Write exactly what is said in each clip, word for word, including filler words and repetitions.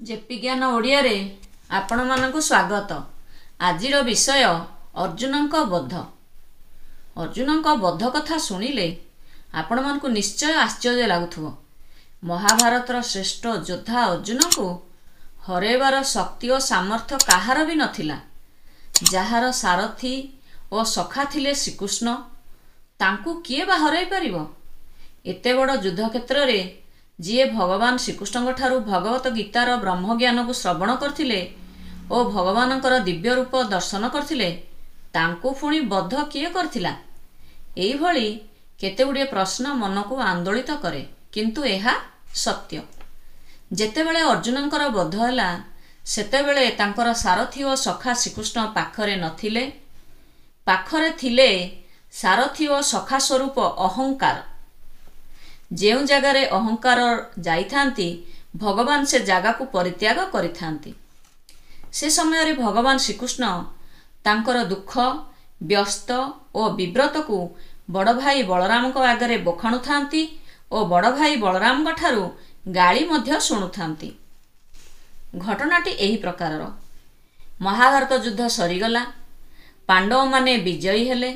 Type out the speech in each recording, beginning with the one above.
JP ଜ୍ଞାନ ଓଡ଼ିଆରେ ଆପଣମାନଙ୍କୁ ସ୍ୱାଗତ। ଆଜିର ବିଷୟ ଅର୍ଜୁନଙ୍କ ବଧ। ଅର୍ଜୁନଙ୍କ ବଧ କଥା ଶୁଣିଲେ ଆପଣମାନଙ୍କୁ ନିଶ୍ଚୟ ଆଶ୍ଚର୍ଯ୍ୟ ଲାଗୁଥିବ। ମହାଭାରତର ଶ୍ରେଷ୍ଠ ଯୋଦ୍ଧା ଅର୍ଜୁନଙ୍କୁ ହରାଇବାର ଶକ୍ତି ଓ ସାମର୍ଥ୍ୟ କାହାର ବି ନଥିଲା। ଯାହାର ସାରଥୀ ଓ ସଖା ଥିଲେ ଶ୍ରୀକୃଷ୍ଣ, ତାଙ୍କୁ କିଏ ବା ହରାଇ ପାରିବ? ଏତେ ବଡ଼ ଯୁଦ୍ଧକ୍ଷେତ୍ରରେ ଯିଏ ଭଗବାନ ଶ୍ରୀକୃଷ୍ଣଙ୍କଠାରୁ ଭଗବତ ଗୀତାର ବ୍ରହ୍ମଜ୍ଞାନକୁ ଶ୍ରବଣ କରିଥିଲେ ଓ ଭଗବାନଙ୍କର ଦିବ୍ୟ ରୂପ ଦର୍ଶନ କରିଥିଲେ, ତାଙ୍କୁ ପୁଣି ବଧ କିଏ କରିଥିଲା? ଏଇଭଳି କେତେଗୁଡ଼ିଏ ପ୍ରଶ୍ନ ମନକୁ ଆନ୍ଦୋଳିତ କରେ, କିନ୍ତୁ ଏହା ସତ୍ୟ। ଯେତେବେଳେ ଅର୍ଜୁନଙ୍କର ବଧ ହେଲା, ସେତେବେଳେ ତାଙ୍କର ସାରଥୀ ଓ ସଖା ଶ୍ରୀକୃଷ୍ଣ ପାଖରେ ନଥିଲେ। ପାଖରେ ଥିଲେ ସାରଥୀ ଓ ସଖା ସ୍ୱରୂପ ଅହଙ୍କାର। ଯେଉଁ ଜାଗାରେ ଅହଙ୍କାର ଯାଇଥାନ୍ତି, ଭଗବାନ ସେ ଜାଗାକୁ ପରିତ୍ୟାଗ କରିଥାନ୍ତି। ସେ ସମୟରେ ଭଗବାନ ଶ୍ରୀକୃଷ୍ଣ ତାଙ୍କର ଦୁଃଖ, ବ୍ୟସ୍ତ ଓ ବିବ୍ରତକୁ ବଡ଼ ଭାଇ ବଳରାମଙ୍କ ଆଗରେ ବଖାଣୁଥାନ୍ତି ଓ ବଡ଼ ଭାଇ ବଳରାମଙ୍କଠାରୁ ଗାଳି ମଧ୍ୟ ଶୁଣୁଥାନ୍ତି। ଘଟଣାଟି ଏହି ପ୍ରକାରର। ମହାଭାରତ ଯୁଦ୍ଧ ସରିଗଲା। ପାଣ୍ଡବମାନେ ବିଜୟୀ ହେଲେ।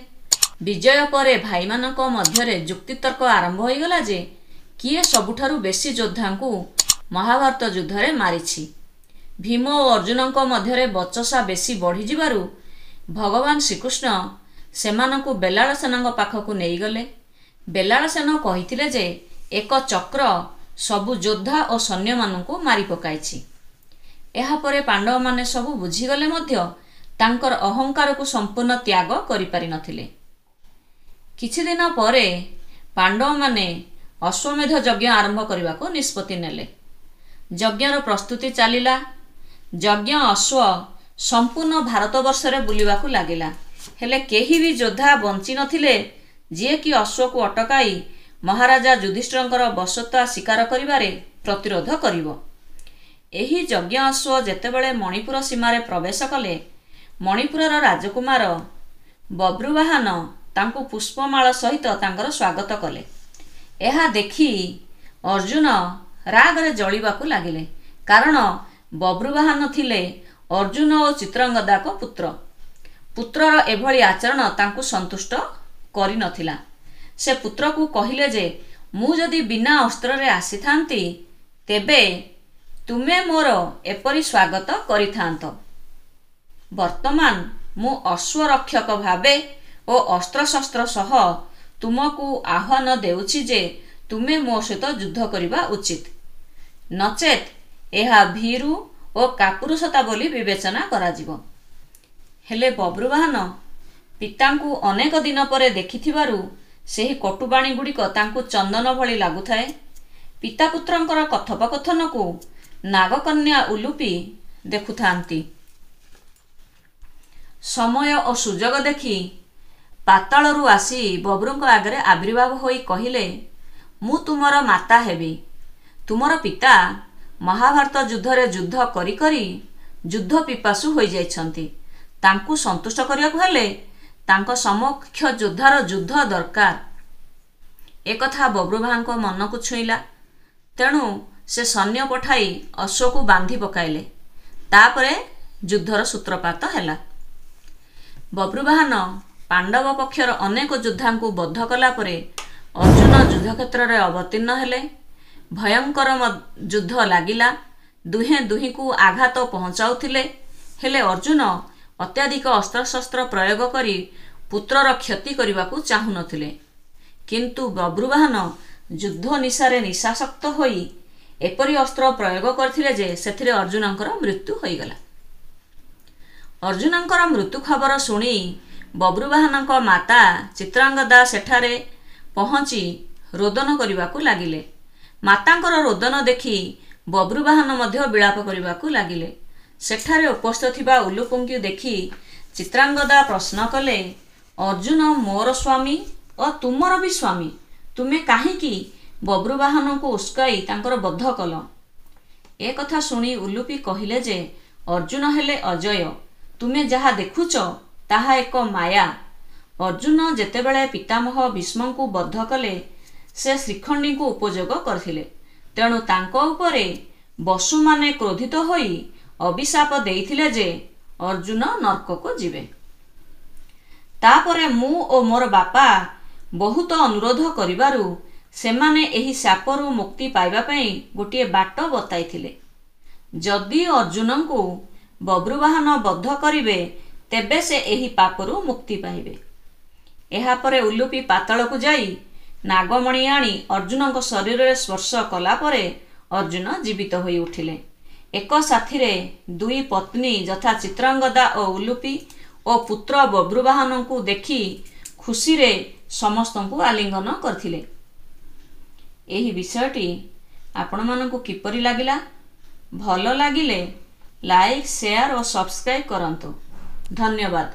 ବିଜୟ ପରେ ଭାଇମାନଙ୍କ ମଧ୍ୟରେ ଯୁକ୍ତିତର୍କ ଆରମ୍ଭ ହୋଇଗଲା ଯେ କିଏ ସବୁଠାରୁ ବେଶୀ ଯୋଦ୍ଧାଙ୍କୁ ମହାଭାରତ ଯୁଦ୍ଧରେ ମାରିଛି। ଭୀମ ଓ ଅର୍ଜୁନଙ୍କ ମଧ୍ୟରେ ବଚସା ବେଶୀ ବଢ଼ିଯିବାରୁ ଭଗବାନ ଶ୍ରୀକୃଷ୍ଣ ସେମାନଙ୍କୁ ବେଲାଳସେନଙ୍କ ପାଖକୁ ନେଇଗଲେ। ବେଲାଳସେନ କହିଥିଲେ ଯେ ଏକ ଚକ୍ର ସବୁ ଯୋଦ୍ଧା ଓ ସୈନ୍ୟମାନଙ୍କୁ ମାରି ପକାଇଛି। ଏହାପରେ ପାଣ୍ଡବମାନେ ସବୁ ବୁଝିଗଲେ ମଧ୍ୟ ତାଙ୍କର ଅହଙ୍କାରକୁ ସମ୍ପୂର୍ଣ୍ଣ ତ୍ୟାଗ କରିପାରିନଥିଲେ। କିଛିଦିନ ପରେ ପାଣ୍ଡବମାନେ ଅଶ୍ୱମେଧ ଯଜ୍ଞ ଆରମ୍ଭ କରିବାକୁ ନିଷ୍ପତ୍ତି ନେଲେ। ଯଜ୍ଞର ପ୍ରସ୍ତୁତି ଚାଲିଲା। ଯଜ୍ଞ ଅଶ୍ୱ ସମ୍ପୂର୍ଣ୍ଣ ଭାରତବର୍ଷରେ ବୁଲିବାକୁ ଲାଗିଲା। ହେଲେ କେହି ବି ଯୋଦ୍ଧା ବଞ୍ଚି ନଥିଲେ ଯିଏକି ଅଶ୍ୱକୁ ଅଟକାଇ ମହାରାଜା ଯୁଧିଷ୍ଠିରଙ୍କର ବଶତ୍ୱା ସ୍ୱୀକାର କରିବାରେ ପ୍ରତିରୋଧ କରିବ। ଏହି ଯଜ୍ଞ ଅଶ୍ୱ ଯେତେବେଳେ ମଣିପୁର ସୀମାରେ ପ୍ରବେଶ କଲେ, ମଣିପୁରର ରାଜକୁମାର ବବ୍ରୁବାହନ ତାଙ୍କୁ ପୁଷ୍ପମାଳ ସହିତ ତାଙ୍କର ସ୍ୱାଗତ କଲେ। ଏହା ଦେଖି ଅର୍ଜୁନ ରାଗରେ ଜଳିବାକୁ ଲାଗିଲେ, କାରଣ ବବ୍ରୁବାହନ ଥିଲେ ଅର୍ଜୁନ ଓ ଚିତ୍ରାଙ୍ଗଦାଙ୍କ ପୁତ୍ର। ପୁତ୍ରର ଏଭଳି ଆଚରଣ ତାଙ୍କୁ ସନ୍ତୁଷ୍ଟ କରିନଥିଲା। ସେ ପୁତ୍ରକୁ କହିଲେ ଯେ ମୁଁ ଯଦି ବିନା ଅସ୍ତ୍ରରେ ଆସିଥାନ୍ତି, ତେବେ ତୁମେ ମୋର ଏପରି ସ୍ୱାଗତ କରିଥାନ୍ତ। ବର୍ତ୍ତମାନ ମୁଁ ଅଶ୍ୱରକ୍ଷକ ଭାବେ ଓ ଅସ୍ତ୍ରଶସ୍ତ୍ର ସହ ତୁମକୁ ଆହ୍ୱାନ ଦେଉଛି ଯେ ତୁମେ ମୋ ସହିତ ଯୁଦ୍ଧ କରିବା ଉଚିତ, ନଚେତ୍ ଏହା ଭୀରୁ ଓ କାପୁରୁଷତା ବୋଲି ବିବେଚନା କରାଯିବ। ହେଲେ ବବ୍ରୁବାହନ ପିତାଙ୍କୁ ଅନେକ ଦିନ ପରେ ଦେଖିଥିବାରୁ ସେହି କଟୁବାଣୀ ଗୁଡ଼ିକ ତାଙ୍କୁ ଚନ୍ଦନ ଭଳି ଲାଗୁଥାଏ। ପିତାପୁତ୍ରଙ୍କର କଥୋପକଥନକୁ ନାଗକନ୍ୟା ଉଲୁପି ଦେଖୁଥାନ୍ତି। ସମୟ ଓ ସୁଯୋଗ ଦେଖି ପାତାଳରୁ ଆସି ବବ୍ରୁଙ୍କ ଆଗରେ ଆବିର୍ଭାବ ହୋଇ କହିଲେ, ମୁଁ ତୁମର ମାତା ହେବି। ତୁମର ପିତା ମହାଭାରତ ଯୁଦ୍ଧରେ ଯୁଦ୍ଧ କରି କରି ଯୁଦ୍ଧ ପିପାସୁ ହୋଇଯାଇଛନ୍ତି। ତାଙ୍କୁ ସନ୍ତୁଷ୍ଟ କରିବାକୁ ହେଲେ ତାଙ୍କ ସମକକ୍ଷ ଯୋଦ୍ଧାର ଯୁଦ୍ଧ ଦରକାର। ଏକଥା ବବ୍ରୁବାହନଙ୍କ ମନକୁ ଛୁଇଁଲା। ତେଣୁ ସେ ସୈନ୍ୟ ପଠାଇ ଅଶ୍ୱକୁ ବାନ୍ଧି ପକାଇଲେ। ତାପରେ ଯୁଦ୍ଧର ସୂତ୍ରପାତ ହେଲା। ବବ୍ରୁବାହନ ପାଣ୍ଡବ ପକ୍ଷର ଅନେକ ଯୋଦ୍ଧାଙ୍କୁ ବଧ କଲା ପରେ ଅର୍ଜୁନ ଯୁଦ୍ଧକ୍ଷେତ୍ରରେ ଅବତୀର୍ଣ୍ଣ ହେଲେ। ଭୟଙ୍କର ଯୁଦ୍ଧ ଲାଗିଲା। ଦୁହେଁ ଦୁହିଁଙ୍କୁ ଆଘାତ ପହଞ୍ଚାଉଥିଲେ। ହେଲେ ଅର୍ଜୁନ ଅତ୍ୟଧିକ ଅସ୍ତ୍ରଶସ୍ତ୍ର ପ୍ରୟୋଗ କରି ପୁତ୍ରର କ୍ଷତି କରିବାକୁ ଚାହୁଁନଥିଲେ। କିନ୍ତୁ ବବ୍ରୁବାହନ ଯୁଦ୍ଧ ନିଶାରେ ନିଶାସକ୍ତ ହୋଇ ଏପରି ଅସ୍ତ୍ର ପ୍ରୟୋଗ କରିଥିଲେ ଯେ ସେଥିରେ ଅର୍ଜୁନଙ୍କର ମୃତ୍ୟୁ ହୋଇଗଲା। ଅର୍ଜୁନଙ୍କର ମୃତ୍ୟୁ ଖବର ଶୁଣି ବବ୍ରୁବାହନଙ୍କ ମାତା ଚିତ୍ରାଙ୍ଗଦା ସେଠାରେ ପହଞ୍ଚି ରୋଦନ କରିବାକୁ ଲାଗିଲେ। ମାତାଙ୍କର ରୋଦନ ଦେଖି ବବ୍ରୁବାହନ ମଧ୍ୟ ବିଳାପ କରିବାକୁ ଲାଗିଲେ। ସେଠାରେ ଉପସ୍ଥିତ ଥିବା ଉଲୁପିଙ୍କୁ ଦେଖି ଚିତ୍ରାଙ୍ଗଦା ପ୍ରଶ୍ନ କଲେ, ଅର୍ଜୁନ ମୋର ସ୍ୱାମୀ ଓ ତୁମର ବି ସ୍ୱାମୀ, ତୁମେ କାହିଁକି ବବ୍ରୁବାହନଙ୍କୁ ଉସ୍କାଇ ତାଙ୍କର ବଧ କଲ? ଏକଥା ଶୁଣି ଉଲୁପି କହିଲେ ଯେ ଅର୍ଜୁନ ହେଲେ ଅଜୟ, ତୁମେ ଯାହା ଦେଖୁଛ ତାହା ଏକ ମାୟା। ଅର୍ଜୁନ ଯେତେବେଳେ ପିତାମହ ଭୀଷ୍ମଙ୍କୁ ବଧ କଲେ, ସେ ଶିଖଣ୍ଡୀଙ୍କୁ ଉପଯୋଗ କରିଥିଲେ। ତେଣୁ ତାଙ୍କ ଉପରେ ବସୁମାନେ କ୍ରୋଧିତ ହୋଇ ଅଭିଶାପ ଦେଇଥିଲେ ଯେ ଅର୍ଜୁନ ନର୍କକୁ ଯିବେ। ତାପରେ ମୁଁ ଓ ମୋର ବାପା ବହୁତ ଅନୁରୋଧ କରିବାରୁ ସେମାନେ ଏହି ଶାପରୁ ମୁକ୍ତି ପାଇବା ପାଇଁ ଗୋଟିଏ ବାଟ ବତାଇଥିଲେ। ଯଦି ଅର୍ଜୁନଙ୍କୁ ବବ୍ରୁବାହନ ବଧ କରିବେ ତେବେ ସେ ଏହି ପାପରୁ ମୁକ୍ତି ପାଇବେ। ଏହାପରେ ଉଲୁପି ପାତାଳକୁ ଯାଇ ନାଗମଣି ଆଣି ଅର୍ଜୁନଙ୍କ ଶରୀରରେ ସ୍ପର୍ଶ କଲା ପରେ ଅର୍ଜୁନ ଜୀବିତ ହୋଇ ଉଠିଲେ। ଏକ ସାଥିରେ ଦୁଇ ପତ୍ନୀ ଯଥା ଚିତ୍ରାଙ୍ଗଦା ଓ ଉଲୁପି ଓ ପୁତ୍ର ବବ୍ରୁବାହନଙ୍କୁ ଦେଖି ଖୁସିରେ ସମସ୍ତଙ୍କୁ ଆଲିଙ୍ଗନ କରିଥିଲେ। ଏହି ବିଷୟଟି ଆପଣମାନଙ୍କୁ କିପରି ଲାଗିଲା? ଭଲ ଲାଗିଲେ ଲାଇକ୍, ସେୟାର ଓ ସବସ୍କ୍ରାଇବ୍ କରନ୍ତୁ। ଧନ୍ୟବାଦ।